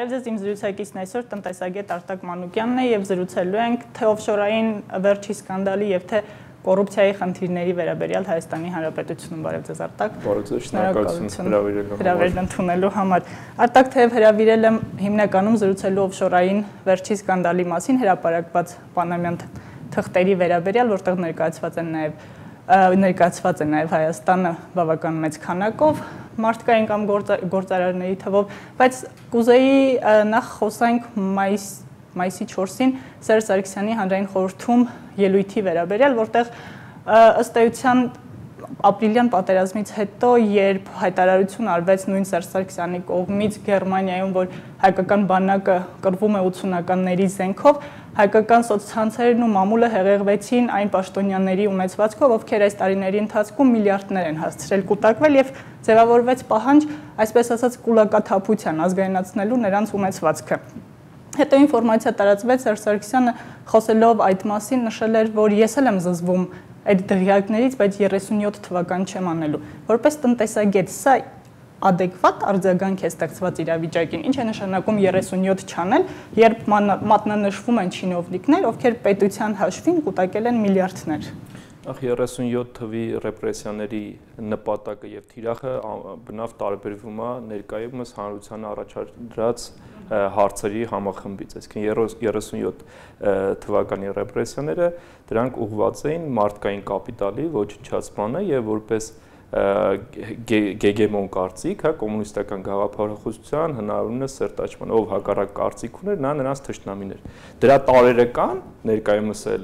Բարև ձեզ, իմ զրուցակիցն այսօր տնտեսագետ Արտակ Մանուկյանն է եւ զրուցելու ենք թե օֆշորային վերջի սկանդալի եւ թե կոռուպցիայի խնդիրների վերաբերյալ Հայաստանի Հանրապետությունում։ Բարև ձեզ Արտակ։ Բարև ձեզ, շնորհակալություն հրավերն ընդունելու համար։ Արտակ թեև հրավիրել եմ հիմնականում զրուցելու օֆշորային վերջի սկանդալի մասին հրապարակված պանամյան թղթերի վերաբերյալ, որտեղ ներկայացված է նաև Հայաստանը բավական մեծ քանակով մարդկային կամ գործարարների թվով, բայց կուզեի նախ խոսանք մայիսի 4-ին Սերժ Սարգսյանի հանրային խորհրդում ելույթի վերաբերյալ, որտեղ ըստ էության ապրիլյան պատերազմից հետո, երբ հայտարարություն արվեց նույն Սերժ Սարգսյանի կողմից Գերմանիայում, որ հայկական բանակը կռվում է 80-ականների զենքով, հայկական սոցցանցերն ու մամուլը հեղեղվեցին այն պաշտոնյաների ունեցվածքով, ովքեր այս տարիների ընթացքում միլիարդներ են հասցրել կուտակվել եւ ձևավորվեց պահանջ, այսպես ասած, կուլակաթափության ազգայնացնելու նրանց ունեցվածքը։ Հետո ինֆորմացիա տարածվեց, Սերժ Սարգսյանը խոսելով այդ մասին նշել էր, որ ես էլ եմ զզվում այդ դղյակներից, բայց 37 թվական չեմ անելու։ Որպես տնտեսագետ, սա adekvat արձագանք է ստեղծված իրավիճակին, ինչ է նշանակում 37 չանել, երբ մատնանշվում են չինովնիկներ, ովքեր պետության հաշվին կուտակել են միլիարդներ։ Ախ 37 թվի ռեպրեսիաների նպատակը եւ թիրախը բնավ տարբերվում է ներկայումս հանրությանը առաջադրած հարցերի համախմբից, այսինքն 37 թվականի ռեպրեսիաները դրանք ուղղված էին մարդկային կապիտալի ոչնչացմանը եւ որպես գեգեմոն կարծիք, հա, կոմունիստական գաղափարախոսության հնարավորինս սերտաճման, ով հակառակ կարծիք ուներ, նա նրանց թշնամին էր։ Դրա տարերը կան, ներկայումս էլ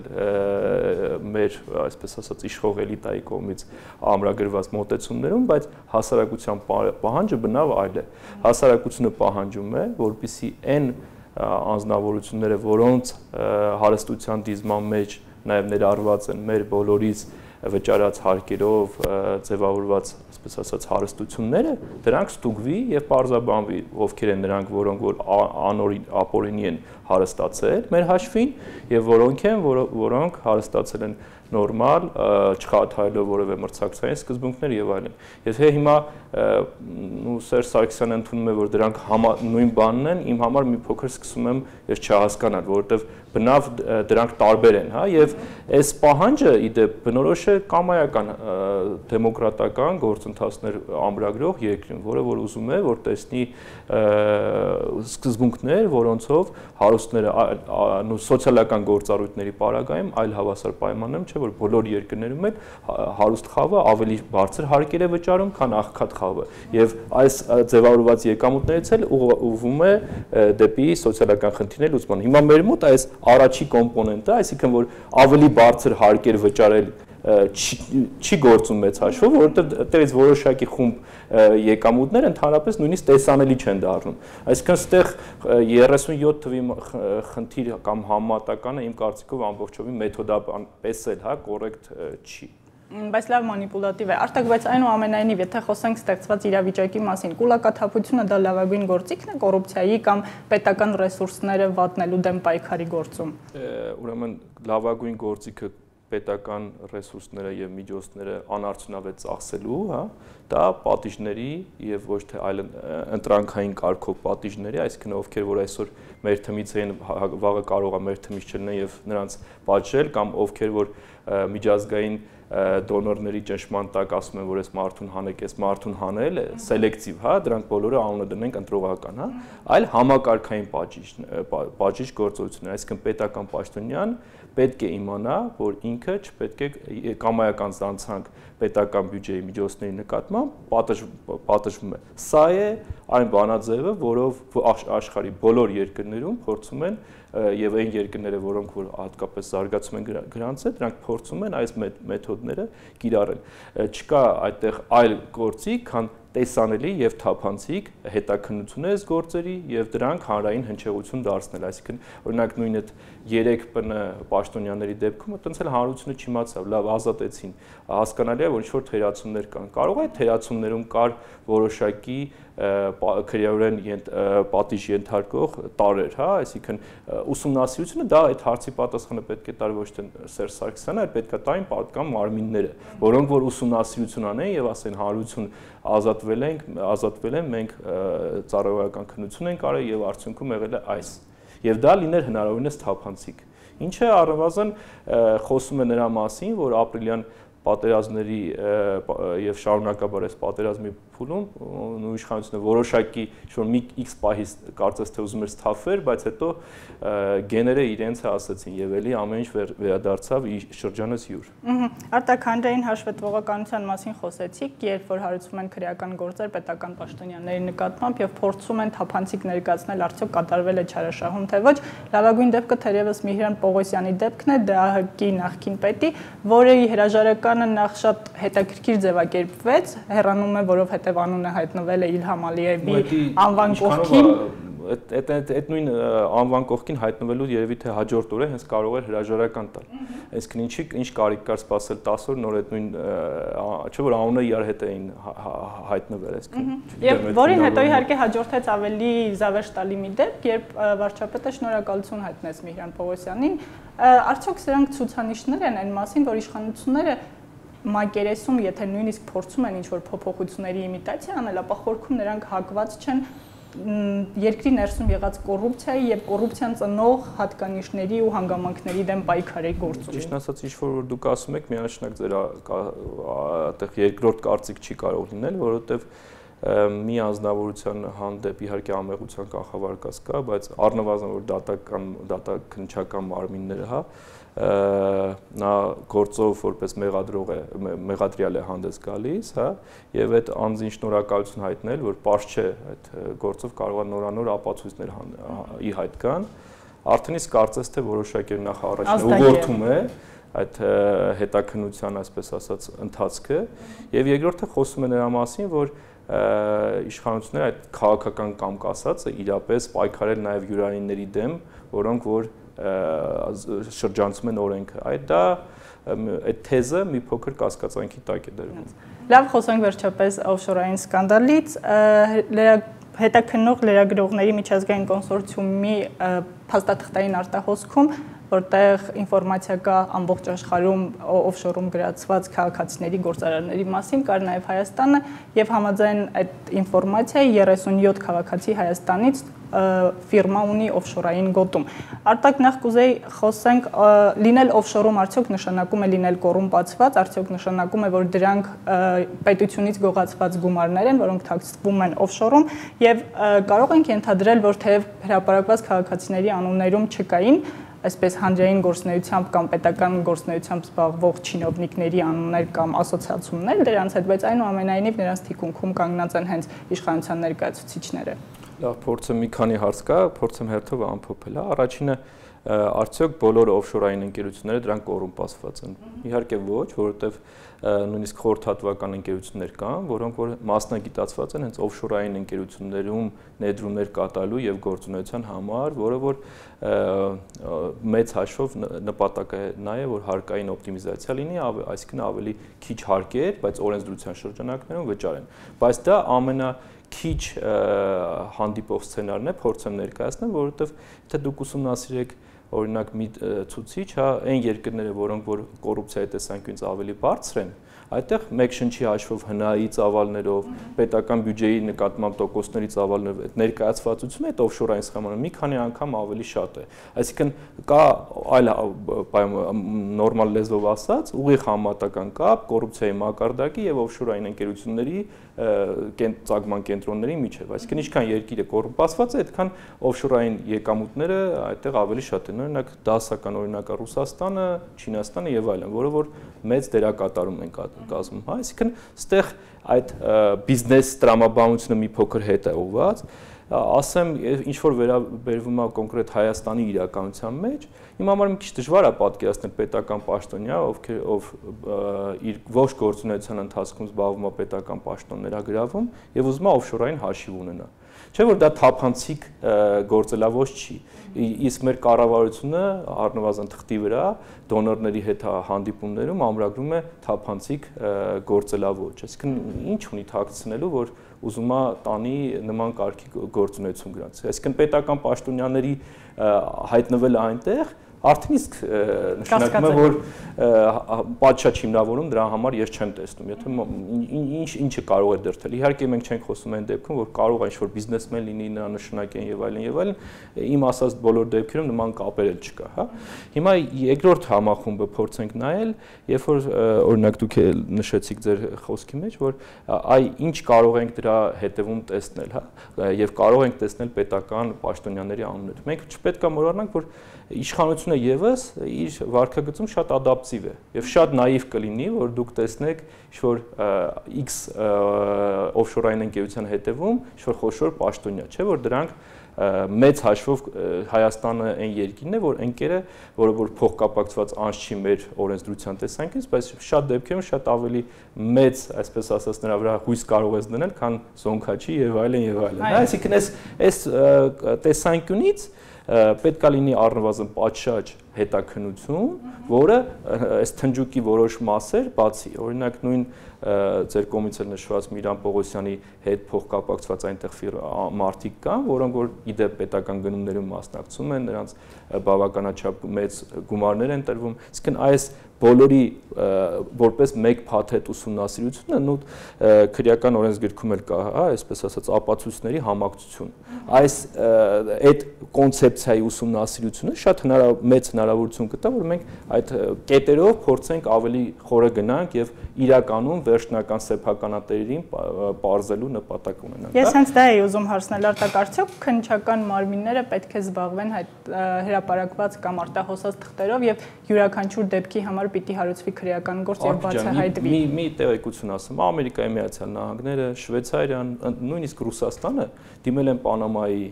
մեր, այսպես ասած, իշխող էլիտայի կողմից ամրագրված մոտեցումներում, բայց հասարակության պահանջը բնավ այլ է։ Հասարակությունը պահանջում է, որպեսզի այն անձնավորությունները, որոնց հարստության դիզման մեջ նաև ներառված են մեր բոլորից վճարած հարկերով ձևավորված, այսպես ասած, հարստությունները, դրանք ստուգվի եւ պարզաբանվի, ովքեր են նրանք, որոնք որ ապօրինի են հարստացել մեր հաշվին եւ որոնք են, որոնք հարստացել են նորմալ, չխաթարելով որևէ մրցակցային սկզբունքներ եւ այլն։ Եթե հիմա Սերժ Սարգսյանը ընդունում է, որ դրանք նույն բանն են, իմ համար մի փոքր սկսում եմ ես չհասկանալ, որովհետեւ բնավ դրանք տարբեր են, հա, եւ այս պահանջը իդեպ բնորոշ է կամայական դեմոկրատական գործընթացներ ամրագրող երկրին, որը որ ուզում է, որ տեսնի սկզբունքներ, որոնցով հարուստները սոցիալական գործառույթների պարագայում այլ հավասար պայմաններում, չէ՞ որ բոլոր երկրներում էլ հարուստ խավը ավելի բարձր հարկեր է վճարում, քան աղքատ խավը, եւ այս ձևավորված եկամուտներից էլ ուղղվում է դեպի սոցիալական խնդիրների լուծման։ Հիմա մեր մոտ այս առաջի կոմպոնենտը, այսինքն որ ավելի բարձր հարկեր վճարել չի գործում մեծ հաշվով, որովհետև այդտեղից որոշակի խումբ եկամուտներ ընդհանրապես նույնիսկ տեսանելի չեն դառնում։ Այսինքն այստեղ 37 թվի խնդիր կամ համատականը իմ կարծիքով ամբողջովին մեթոդապես էլ, հա, կոռեկտ չի։ Բայց լավ մանիպուլատիվ է։ Արտակ, բայց այնուամենայնիվ, եթե խոսենք ստեղծված իրավիճակի մասին, կուլակաթափությունը դա լավագույն գործիքն է կոռուպցիայի կամ պետական ռեսուրսները վատնելու դեմ պայքարի գործում։ Ուրեմն լավագույն գործիքը պետական ռեսուրսները եւ միջոցները անարդյունավետ ծախսելու, հա, դա պատիժների եւ ոչ թե այլ ընտրանքային կարգով պատիժների, այսինքն ովքեր որ այսօր մեր թմից են, վաղը կարող է մեր թմից չլինեն եւ նրանց պատժել կամ ովքեր որ միջազգային դոնորների ճնշման տակ ասում են, որ այս մարդուն հանեք, այս մարդուն հանել է սելեկտիվ, հա, դրանք բոլորը անունը դնենք ընտրողական, հա, այլ համակարգային պատժիչ գործողություններ, այսինքն պետական պաշտոնյան պետք է իմանա, որ ինքը չպետք է կամայական զանցանք պետական բյուջեի միջոցների նկատմամբ պատժվում է։ Սա է այն բանաձևը, որով աշխարհի բոլոր երկրներում փորձում են եւ այն երկրները, որոնք որ հատկապես զարգացում են գրանցել, դրանք փորձում են այս մեթոդները կիրառել։ Չկա այդտեղ այլ գործիք, քան տեսանելի եւ թափանցիկ հետաքննություն է այս գործերի եւ դրանք հանրային հնչեղություն դարձնել, այսինքն օրինակ նույն այդ 3 ՊՆ պաշտոնյաների դեպքում այտենց էլ հանրությունը չիմացավ, լավ ազատեցին, հասկանալի է որ ինչ որ թերացումներ կան, կարող է թերացումներում կար որոշակի քրեորեն պատիժ ենթարկող տարեր, հա, այսինքն ուսումնասիրությունը դա այդ հարցի պատասխանը պետք է տար ոչ թե Սերժ Սարգսյանը, այլ պետք է տային պատկան մարմինները, որոնք որ ուսումնասիրություն անեն եւ ասեն հանրություն ազատվել են, մենք ծառայողական քննություն ենք արել եւ արդյունքում եղել է այս։ Եվ դա լիներ հնարավորինս թափանցիկ։ Ինչը առնվազն խոսում է նրա մասին, որ ապրիլյան պատերազմների եւ շարունակաբար այս պատերազմի փուլում ու իշխանությունը որոշակի ինչ-որ մի X պահից կարծես թե ուզում էր սթափվեր, բայց հետո գեները իրենց ասացին եւ էլի ամեն ինչ վերադարձավ շրջանս յուր։ Արտակ, հանրային հաշվետվողականության մասին խոսեցիք, երբ որ հարուցում են քրեական գործեր պետական պաշտոնյաների նկատմամբ եւ փորձում են թափանցիկ ներկայացնել արդյոք կատարվել է չարաշահում թե ոչ, լավագույն դեպքը թերևս Միհրան Պողոսյանի դեպքն է, ԴԱՀԿ-ի նախկին պետի, որի հրաժարականը նախ շատ հետաքրքիր ձևակերպվեց, հեռանում է, որովհետեւ անունը հայտնվել է Իլհամ Ալիևի անվան կողքին։ Այդ նույն անվան կողքին հայտնվելու երևի թե հաջորդ օրը հենց կարող էր հրաժարական տալ։ Այսինքն ինչ կարիք կար սպասել 10 օր նոր այդ նույն չէ՞ որ անունը իրար հետ էին հայտնվել, այսինքն։ Եվ որին հետո իհարկե հաջորդեց ավելի զավեշ տալի մի դեպք, երբ վարչապետը շնորհակալություն հայտնեց Միհրան Պողոսյանին, արդյոք սրանք ցուցանիշներ են այն մասին, որ իշխանությունները մակերեսում, եթե նույնիսկ փորձում են ինչ-որ փոփոխությունների իմիտացիա անել, ապա խորքում նրանք հակված չեն երկրի ներսում եղած կոռուպցիայի եւ կոռուպցիան ծնող հատկանիշների ու հանգամանքների դեմ պայքարի գործում։ Ճիշտ ասած, ինչ որ դուք ասում եք, միանշանակ ձեր այդտեղ երկրորդ կարծիք չի կարող լինել, որովհետեւ մի անձնավորության հանդեպ իհարկե ամեղության կանխավարկած կա, բայց առնվազն որ դատաքննչական մարմինները, հա, նա գործով որպես մեղադրյալ է հանդես գալիս, հա, եւ այդ անձին շնորհակալություն հայտնել, որ պարզ չէ այդ գործով կարող է նորանոր ապացույցներ ի հայտ գան, արդեն իսկ կարծես թե որոշակի նախ առաջին ուղղորդում է այդ հետաքննության, այսպես ասած, ընթացքը, եւ երկրորդը խոսում է նրա մասին, որ իշխանությունները այդ քաղաքական կամք ասածը իրապես պայքարել նաեւ յուրայինների դեմ, որոնք որ շրջանցում են օրենքը։ Այդ թեզը մի փոքր կասկածանքի տակ է դրվում։ Լավ, խոսենք վերջապես օֆշորային սկանդալից, հետաքննող լրագրողների միջազգային կոնսորցիումի փաստաթղթային արտահոսքում, որտեղ ինֆորմացիա կա ամբողջ աշխարհում օֆշորում գրացված քաղաքացիների գործարարների մասին, կար նաև Հայաստանը եւ համաձայն այդ ինֆորմացիայի 37 քաղաքացի Հայաստանից ֆիրմա ունի օֆշորային գոտում։ Արտակ, նախ կուզեի խոսենք, լինել օֆշորում արդյոք նշանակում է լինել կոռումպացված, արդյոք նշանակում է, որ դրանք պետությունից գողացված գումարներ են, որոնք թաքցվում են օֆշորում, եւ կարող ենք ենթադրել, որ թեև հրապարակված քաղաքացիների անուններում չկային այսպես հանրային գործունեությամբ կամ պետական գործունեությամբ զբաղվող չինովնիկների անուններ կամ ասոցիացումներ դրանց հետ, բայց այնուամենայնիվ նրանց թիկունքում կանգնած են հենց իշխանության ներկայացուցիչները։ Լավ, փորձեմ մի քանի հարց կա, փորձեմ հերթով ամփոփել, հա, առաջինը արդյոք բոլոր օֆշորային ընկերությունները դրանք կոռումպացված են։ Իհարկե ոչ, որովհետև նույնիսկ խորհրդատվական ընկերություններ կան, որոնք որ մասնագիտացված են հենց օֆշորային ընկերություններում ներդրումներ կատարելու եւ գործունեության համար, որը որ մեծ հաշվով նպատակը նա է, որ հարկային օպտիմիզացիա լինի, այսինքն ավելի քիչ հարկեր, բայց օրենսդրության շրջանակներում վճարեն։ Բայց դա քիչ հանդիպող սցենարն է, փորձեմ ներկայացնել, որովհետև եթե դուք ուսումնասիրեք օրինակ մի ցուցիչ, հա, այն երկրները, որոնք որ կոռուպցիայի տեսանկյունից ավելի բարձր են, այդտեղ մեկ շնչի հաշվով հնայի ծավալներով, պետական բյուջեի նկատմամբ տոկոսների ծավալներով այդ ներկայացվածությունը այդ օֆշորային սխեմանը մի քանի անգամ ավելի շատ է։ Այսինքն կա այլ նորմալ լեզվով ասած, ուղիղ համատական կապ կոռուպցիայի մակարդակի եւ օֆշորային ընկերությունների ծագման կենտրոնների միջև, այսինքն ինչքան երկիրը կոռումպացված է, այդքան օֆշորային եկամուտները այդտեղ ավելի շատ են, օրինակ դասական օրինակը Ռուսաստանը, Չինաստանը եւ այլն, որը որ մեծ դերակատարում են կազմում, հա, այսինքն ստեղ այդ բիզնես տրամաբանությունը մի փոքր հետ է ուղղված, ասեմ, ինչ որ վերաբերվում է կոնկրետ Հայաստանի իրականության մեջ, իմ համար մի քիչ դժվար է պատկերացնել պետական պաշտոնյա, ով իր ողջ գործունեության ընթացքում զբաղվում է պետական պաշտոններագրավում եւ ուզում է օֆշորային հաշիվ ունենա։ Չէ՞ որ դա թափանցիկ գործելավոճ չի։ Իսկ մեր կառավարությունը առնվազն թղթի վրա դոնորների հետ հանդիպումներում ամրագրում է թափանցիկ գործելավոճ։ Այսինքն ինչ ունի թաքցնելու, որ ուզում է տանի նման կարգի գործունեություն գրանցի։ Այսինքն պետական պաշտոնյաների հայտնվելը այնտեղ արդեն իսկ նշանակում է, որ պատշաճ հիմնավորում դրա համար ես չեմ տեսնում։ Եթե ինչը կարող է դրդել։ Իհարկե մենք չենք խոսում այն դեպքում, որ կարող է ինչ-որ բիզնեսմեն լինի, նրա նշանակեն եւ այլն, իմ ասած բոլոր դեպքերում նման կապեր էլ չկա, հա։ Հիմա երկրորդ համախումբը փորձենք նայել, երբ որ օրինակ դուք նշեցիք ձեր խոսքի մեջ, որ այ ինչ կարող ենք դրա հետևում տեսնել, հա, եւ կարող ենք տեսնել պետական պաշտոնյաների անուններ։ Մենք չպետք է մոռանանք, որ իշխանությունը եւս իր վարքագծում շատ ադապտիվ է եւ շատ նաիվ կլինի, որ դուք տեսնեք ինչ-որ X օֆշորային ընկերության հետևում ինչ-որ խոշոր պաշտոնյա, չէ՞ որ դրանք մեծ հաշվով Հայաստանը այն երկիրն է, որ ընկերը, որը որ փոխկապակցված անց չի մեր օրենսդրության տեսանկյունից, բայց շատ դեպքերում շատ ավելի մեծ, այսպես ասած, նրա վրա հույս կարող ես դնել, քան Զոնքաչի եւ այլն եւ այլն։ Այսինքն այս տեսանկյունից պետք է լինի առնվազն պատշաճ հետաքննություն, որը այս թնջուկի որոշ մասեր բացի, օրինակ նույն ձեր կողմից էլ նշված Միրան Պողոսյանի հետ փոխկապակցված այնտեղ մարդիկ կան, որոնք որ իդեպ պետական գնումներում մասնակցում են, նրանց բավականաչափ մեծ գումարներ են տրվում, իսկ այս բոլորի որպես մեկ փաթեթ ուսումնասիրությունը նույն քրեական օրենսգրքում էլ կա, հա, այսպես ասած ապացույցների համակցություն։ Այս այդ կոնցեպցիայի ուսումնասիրությունը շատ մեծ հնարավորություն կտա, որ մենք այդ կետերով փորձենք ավելի խորը գնանք եւ իրականում վերջնական սեփականատերերին բարձելու նպատակ ունենանք։ Ես հենց դա էի ուզում հարցնել, Արտակ, արդյոք քննչական մարմինները պետք է զբաղվեն հրապարակված կամ արտահոսած թղթերով եւ յուրաքանչյուր դեպքի համար պիտի հարուցվի քրեական գործ եւ բացահայտվի։ Մի տեղեկություն ասեմ, Ամերիկայի Միացյալ Նահանգները, Շվեյցարիան, նույնիսկ Ռուսաստանը դիմել են Պանամայի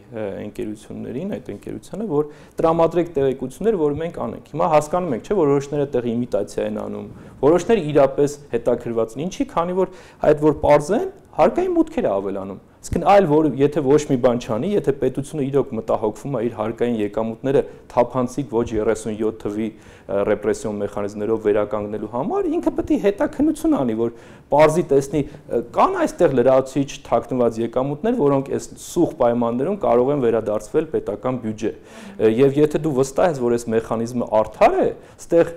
ընկերություններին, այդ ընկերությանը, որ տրամադրեք տեղեկություններ, որ մենք անենք։ Հիմա հասկանում ենք, չէ՞, որ որոշները այդտեղ իմիտացիա են անում, որոշները իրապես հետաքրված են։ Ինչի, քանի որ այդ որ պարզեն, հարկային մուտքեր ավելանում։ Իսկ այլ որ եթե ոչ մի բան չանի, եթե պետությունը իրոք մտահոգվում է իր հարկային եկամուտները թափանցիկ ոչ 37 թվի ռեպրեսիոն մեխանիզմներով վերականգնելու համար, ինքը պետք է հետաքննություն անի, որ պարզի տեսնի կան այստեղ լրացուցիչ թաքնված եկամուտներ, որոնք այս սուղ պայմաններում կարող են վերադարձվել պետական բյուջե։ Եվ եթե դու վստահ ես, որ այս մեխանիզմը արդար է, այստեղ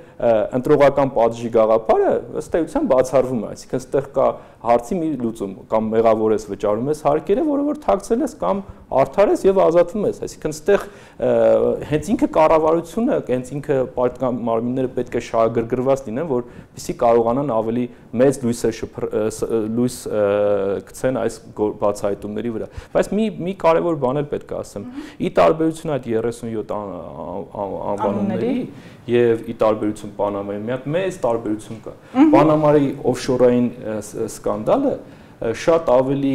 ընտրողական պատժի գաղափարը ըստ էության բացառվում է, այսինքն այստեղ կա հարցի մի լուծում, կամ մեղավոր ես վճարում ես հարկերը, որը որ թաքցել ես, կամ արդար ես եւ ազատվում ես, այսինքն այստեղ հենց ինքը կառավարությունը, հենց ինքը պետական մարմինները պետք է շահագրգռված լինեն, որպեսզի կարողանան ավելի մեծ լույս գցեն այս բացահայտումների վրա։ Բայց մի կարևոր բան էլ պետք է ասեմ։ Ի տարբերություն այդ 37 անվանումների եւ ի տարբերություն Պանամայի, մի հատ մեծ տարբերություն կա։ Պանամայի օֆշորային սկանդալը շատ ավելի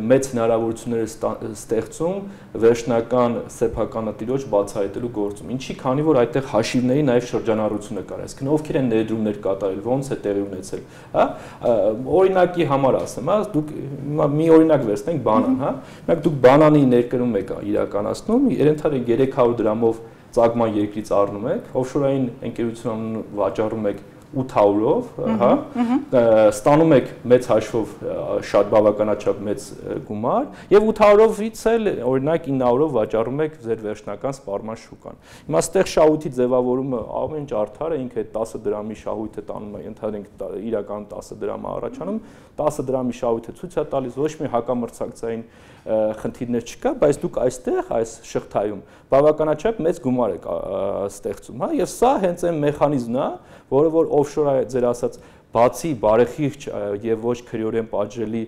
մեծ հնարավորություններ է ստեղծում վերջնական սեփականատիրոջ բացահայտելու գործում։ Ինչի, քանի որ այդտեղ հաշիվների նաև շրջանառությունը կար, այսինքն ովքեր են ներդրումներ կատարել, ոնց է տեղի ունեցել, հա։ Օրինակի համար ասեմ, հա, դուք մի օրինակ վերցնենք բանան, հա։ Մենք դուք բանանի ներկրում եք իրականացնում, երենթալի 300 դրամով ծագման երկրից առնում եք, օֆշորային ընկերություն վաճառում եք 800-ով, հա, ստանում եք մեծ հաշվով շատ բավականաչափ մեծ գումար եւ 800-ից էլ օրինակ 900-ով վաճառում եք ձեր վերջնական սպառման շուկան։ Հիմա այստեղ շահույթի ձևավորումը ամեն ինչ արդար է, ինքը 10 դրամի շահույթը տանում է, ընդհանրենք իրական 10 դրամ է առաջանում, 10 դրամի շահույթը ցույց է տալիս, ոչ մի հակամրցակցային խնդիրներ չկա, բայց դուք այստեղ այս շղթայում բավականաչափ մեծ գումար եք ստեղծում, հա, եւ սա հենց այն մեխանիզմն է, որը որ օֆշոր ձեր ասած բացի բարեխիղճ եւ ոչ քրեորեն պատժելի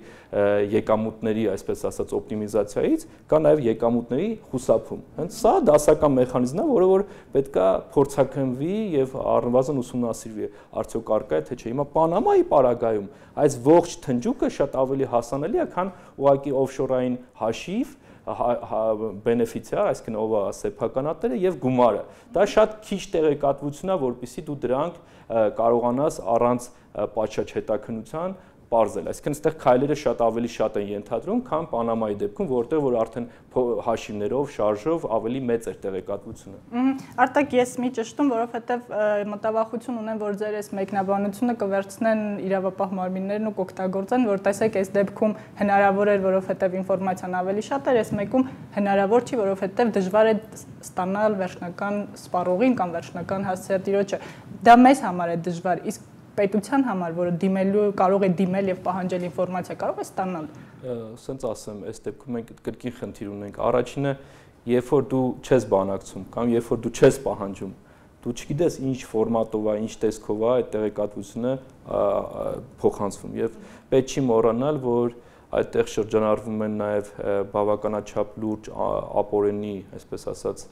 եկամուտների, այսպես ասած, օպտիմիզացիայից կա նաեւ եկամուտների խուսափում։ Հենց սա դասական մեխանիզմն է, որը որ պետքա փորձակնվի եւ առնվազն ուսումնասիրվի, արդյոք արկա է թե չէ։ Հիմա Պանամայի պարագայում այս ողջ թնջուկը շատ ավելի հասանելի է, քան ուղղակի օֆշորային հաշիվ բենեֆիցիար, այսինքն ով է սեփականատերը եւ գումարը։ Դա շատ քիչ տեղեկատվություն է, որպեսզի դու դրանք կարողանաս առանց պատշաճ հետաքննության պարզել, այսինքն այստեղ քայլերը շատ ավելի շատ են ենթադրում, քան Պանամայի դեպքում, որտեղ որ արդեն հաշիվներով, շարժով ավելի մեծ էր տեղեկատվությունը։ Արտակ, ես մի ճշտում, որովհետև մտավախություն ունեմ, որ ձեր այս մեկնաբանությունը կվերցնեն իրավապահ մարմիններն ու կօգտագործեն, որ տեսեք, այս դեպքում հնարավոր էր, որովհետև ինֆորմացիան ավելի շատ էր, այս մեկում հնարավոր չի, որովհետև դժվար է ստանալ վերջնական սպառողին կամ վերջնական հասցեատիրոջը։ Դա մեզ համար է դժվար, իսկ պետության համար, որը դիմելու կարող է դիմել եւ պահանջել ինֆորմացիա, կարող է ստանալ։ Սենց ասեմ, այս դեպքում մենք կրկին խնդիր ունենք։ Առաջինը, երբ որ դու չես բանակցում կամ երբ որ դու չես պահանջում, դու չգիտես ինչ ֆորմատով է, ինչ տեսքով է այդ տեղեկատվությունը փոխանցվում եւ պետք չի մոռանալ, որ այդտեղ շրջանառվում են նաև բավականաչափ լուրջ ապօրինի, այսպես ասած,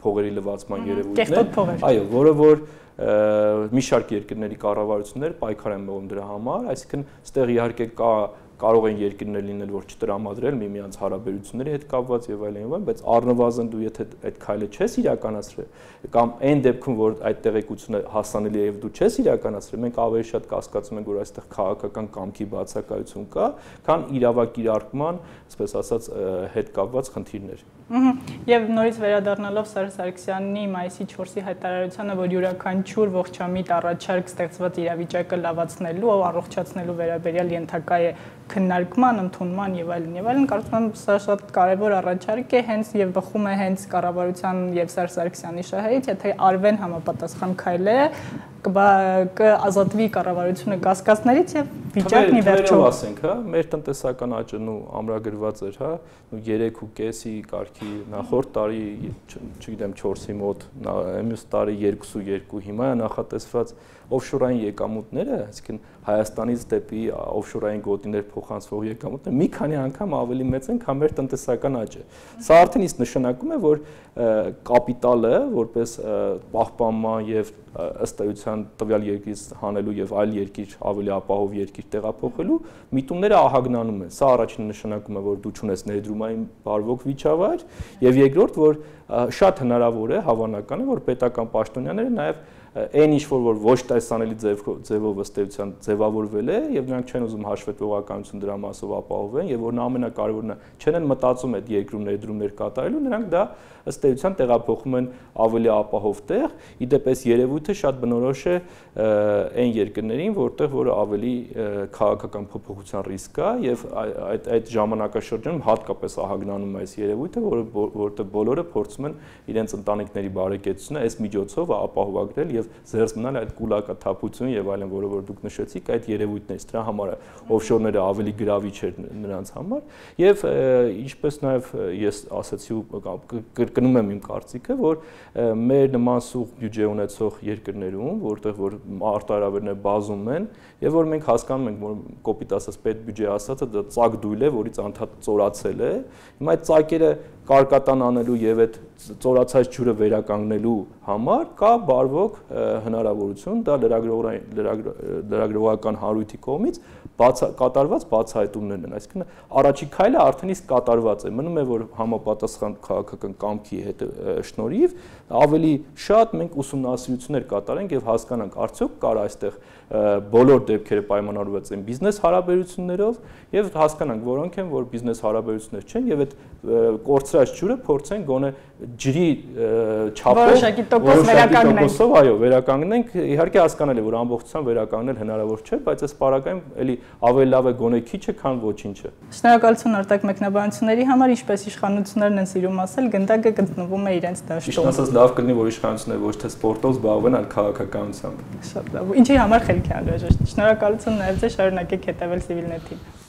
փողերի լվացման երևույթներ, այո, որը որ մի շարք երկրների կառավարություններ պայքար են մղում դրա համար, այսինքն այստեղ իհարկե կարող են երկրներ լինել, որ չտրամադրել միմյանց հարաբերությունների հետ կապված եւ այլն, բայց առնվազն դու եթե այդ քայլը չես իրականացրել կամ այն դեպքում, որ այդ տեղեկությունը հասանելի է եւ դու չես իրականացրել, մենք ավելի շատ կասկածում ենք, որ այստեղ քաղաքական կամքի բացակայություն կա, քան իրավակիրարկման, այսպես ասած, հետ կապված խնդիրներ։ Եվ նորից վերադառնալով Սերժ Սարգսյանի մայիսի 4-ի հայտարարությանը, որ յուրաքանչյուր ողջամիտ առաջարկ ստեղծված իրավիճակը լավացնելու ու առողջացնելու վերաբերյալ ենթակա է քննարկման, ընդունման եւ այլն, կարծում եմ սա շատ կարեւոր առաջարկ է, հենց եւ բխում է հենց կառավարության եւ Սերժ Սարգսյանի շահերից, եթե արվեն համապատասխան քայլերը, կազատվի կառավարությունը կասկածներից եւ վիճակն ի վերջո ասենք, հա, մեր տնտեսական աճն ու ամրագրված էր, հա, 3.5-ի կարգի նախորդ տարի, չգիտեմ 4-ի մոտ, մյուս տարի 2.2, հիմա է նախատեսված օֆշորային եկամուտները, այսինքն Հայաստանից դեպի օֆշորային գոտիներ փոխանցվող եկամուտները մի քանի անգամ ավելի մեծ են, քան մեր տնտեսական աճը։ Սա արդեն իսկ նշանակում է, որ կապիտալը, որպես պահպանման եւ ըստ էության տվյալ երկրից հանելու եւ այլ երկիր ավելի ապահով երկիր տեղափոխելու միտումները ահագնանում են։ Սա առաջին նշանակում է, որ դու չունես ներդրումային բարվոք վիճավայր, եւ երկրորդ, որ շատ հնարավոր է, հավանական է, որ պետական պաշտոնյաները նաեւ այն ինչ որ ոչ տեսանելի ձևով ըստ էության ձևավորվել է եւ նրանք չեն ուզում հաշվետվողականություն դրա մասով ապահովեն եւ որն ամենակարևորն է չեն մտածում այդ երկրում ներդրումներ կատարելու նրանք դա ըստ էության տեղափոխում են ավելի ապահով տեղ իդեպ այս երևույթը շատ բնորոշ է այն երկրներին որտեղ որ ավելի քաղաքական փոփոխության ռիսկ կա եւ այդ ժամանակաշրջանում հատկապես ահագնանում է այս երևույթը որտեղ բոլորը փորձում են իրենց ընտանիքների բարեկեցությունը այս միջոցով ապահովագրել եւ զերծ մնալ այդ կուլակաթափություն եւ այլն, որը որ դուք նշեցիք, այդ երևույթներից դրա համար օֆշորները ավելի գրավիչ էր նրանց համար եւ ինչպես նաեւ ես ասացի ու կրկնում եմ իմ կարծիքը, որ մեր նման սուղ բյուջե ունեցող երկրներում, որտեղ որ արտահայտությունները բազում են եւ որ մենք հասկանում ենք, որ կոպիտ ասած պետ բյուջե ասածը դա ծակ դույլ է, որից անդադ ծորացել է։ Հիմա այդ ծակերը կարկատան անելու եւ այդ ծորացած ջուրը վերականգնելու համար կա բարվոք հնարավորություն դա լրագրողական հարույթի կողմից կատարված բացահայտումներն են, այսինքն առաջի քայլը արդեն իսկ կատարված է, մնում է որ համապատասխան քաղաքական կամքի հետ շնորհիվ ավելի շատ մենք ուսումնասիրություններ կատարենք եւ հասկանանք արդյոք կար այստեղ բոլոր դեպքերը պայմանավորված են բիզնես հարաբերություններով եւ հասկանանք որոնք են որ բիզնես հարաբերություններ չեն եւ այդ կորցրած ջուրը փորձեն գոնե ջրի չափով որոշակի տոկոս վերականգնենք, այո, վերականգնենք, իհարկե հասկանալի է որ ամբողջությամբ վերականգնել հնարավոր չէ, բայց այս պարագայում էլի ավելի լավ է գոնե քիչը, քան ոչինչը։ Շնորհակալություն արտակ մեկնաբանությունների համար, ինչպես իշխանություններն են սիրում ասել, գնդակը գտնվում է իրենց դաշտում։ Իշտ ասած լավ կլինի որ իշխանությունները ոչ թե սպորտով զբաղվեն, այլ քաղաքականությամբ։ Շատ լավ։ Ինչի համար խելքի անհրաժեշտ։ Շնորհակալություն նաև ձեզ, շարունակեք հետևել Civilnet-ին։